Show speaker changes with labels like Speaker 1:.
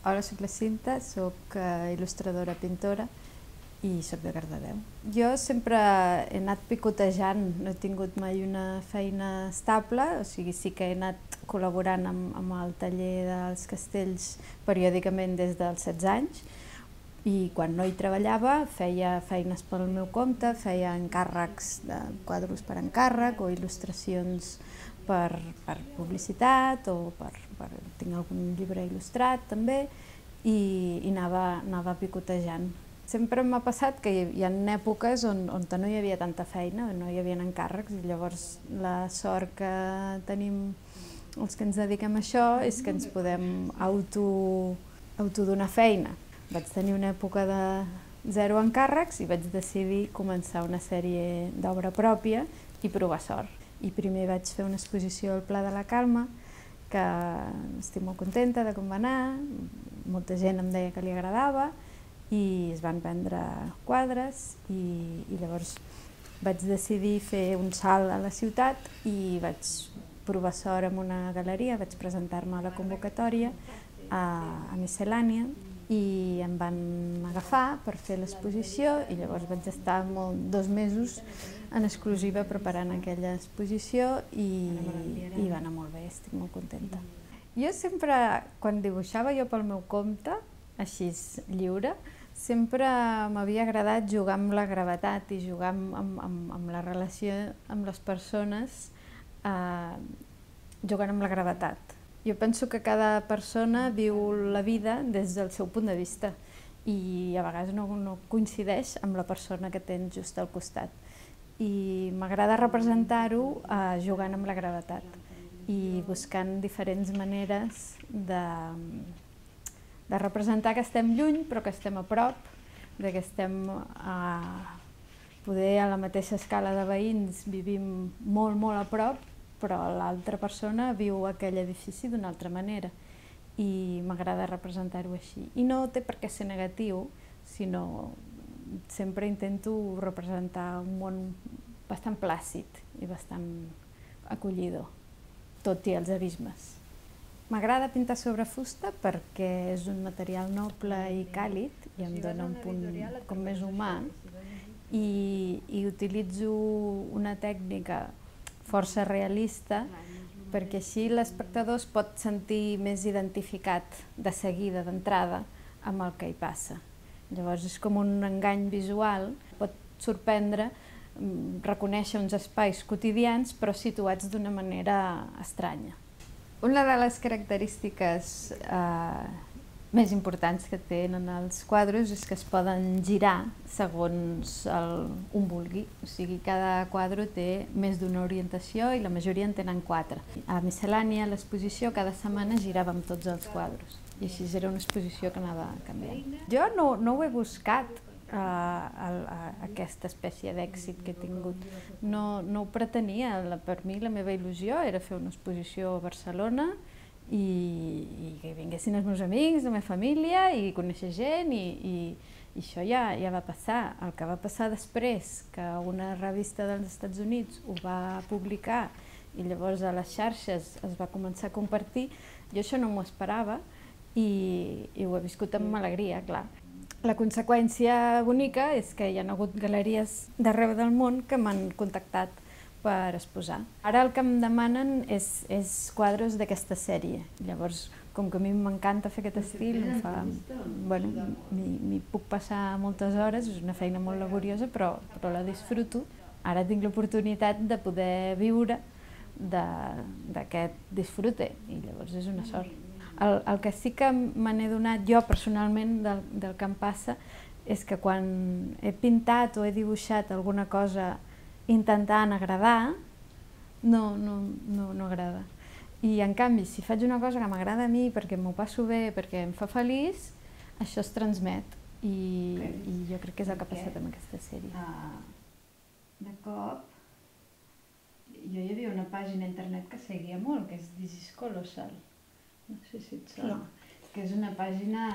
Speaker 1: Hola, soc la Cinta, soc il·lustradora, pintora i soc de Cardedeu. Jo sempre he anat picotejant, no he tingut mai una feina estable, o sigui, sí que he anat col·laborant amb el taller dels castells periòdicament des dels 16 anys, i quan no hi treballava feia feines pel meu compte, feia encàrrecs de quadros per encàrrec o il·lustracions per publicitat o tinc algun llibre il·lustrat també, i anava picotejant. Sempre m'ha passat que hi ha èpoques on no hi havia tanta feina, no hi havia encàrrecs, i llavors la sort que tenim els que ens dediquem a això és que ens podem autodonar feina. Vaig tenir una època de 0 encàrrecs i vaig decidir començar una sèrie d'obra pròpia i provar sort. I primer vaig fer una exposició al Pla de la Calma, que estic molt contenta de com va anar, molta gent em deia que li agradava i es van vendre quadres, i llavors vaig decidir fer un salt a la ciutat i vaig provar sort en una galeria, vaig presentar-me a la convocatòria a Miscel·lània i em van agafar per fer l'exposició, i llavors vaig estar 2 mesos en exclusiva preparant aquella exposició i va anar molt bé, estic molt contenta. Jo sempre, quan dibuixava jo pel meu compte, així lliure, sempre m'havia agradat jugar amb la gravetat i jugar amb la relació amb les persones, jugant amb la gravetat. Jo penso que cada persona viu la vida des del seu punt de vista i a vegades no coincideix amb la persona que tens just al costat. I m'agrada representar-ho jugant amb la gravetat i buscant diferents maneres de representar que estem lluny però que estem a prop, que estem poder a la mateixa escala de veïns, vivim molt a prop, però l'altra persona viu aquell edifici d'una altra manera, i m'agrada representar-ho així. I no té per què ser negatiu, sinó sempre intento representar un món bastant plàcid i bastant acollidor, tot i els abismes. M'agrada pintar sobre fusta perquè és un material noble i càlid i em dona un punt com més humà, i utilitzo una tècnica força realista perquè així l'espectador es pot sentir més identificat de seguida, d'entrada, amb el que hi passa. Llavors és com un engany visual, pot sorprendre reconèixer uns espais quotidians però situats d'una manera estranya. Una de les característiques més importants que tenen els quadres és que es poden girar segons un vulgui, o sigui, cada quadre té més d'una orientació i la majoria en tenen 4. A Miscel·lània, a l'exposició, cada setmana giràvem tots els quadres i així era una exposició que anava canviant. Jo no ho he buscat, aquesta espècie d'èxit que he tingut. No ho pretenia, per mi la meva il·lusió era fer una exposició a Barcelona i que vinguessin els meus amics, la meva família, i conèixer gent, i això ja va passar. El que va passar després, que una revista dels Estats Units ho va publicar i llavors a les xarxes es va començar a compartir, jo això no m'ho esperava i ho he viscut amb alegria, clar. La conseqüència bonica és que hi ha hagut galeries d'arreu del món que m'han contactat per exposar. Ara el que em demanen és quadres d'aquesta sèrie. Llavors, com que a mi m'encanta fer aquest estil, m'hi puc passar moltes hores, és una feina molt laboriosa, però la disfruto. Ara tinc l'oportunitat de poder viure d'aquest disfrute, i llavors és una sort. El que sí que me n'he donat jo personalment del que em passa és que quan he pintat o he dibuixat alguna cosa intentant agradar, no agrada. I en canvi, si faig una cosa que m'agrada a mi perquè m'ho passo bé, perquè em fa feliç, això es transmet, i jo crec que és el que ha passat amb aquesta sèrie. De cop, jo hi havia una pàgina a internet que seguia molt, que és This is Colossal. No sé si et sona. Que és una pàgina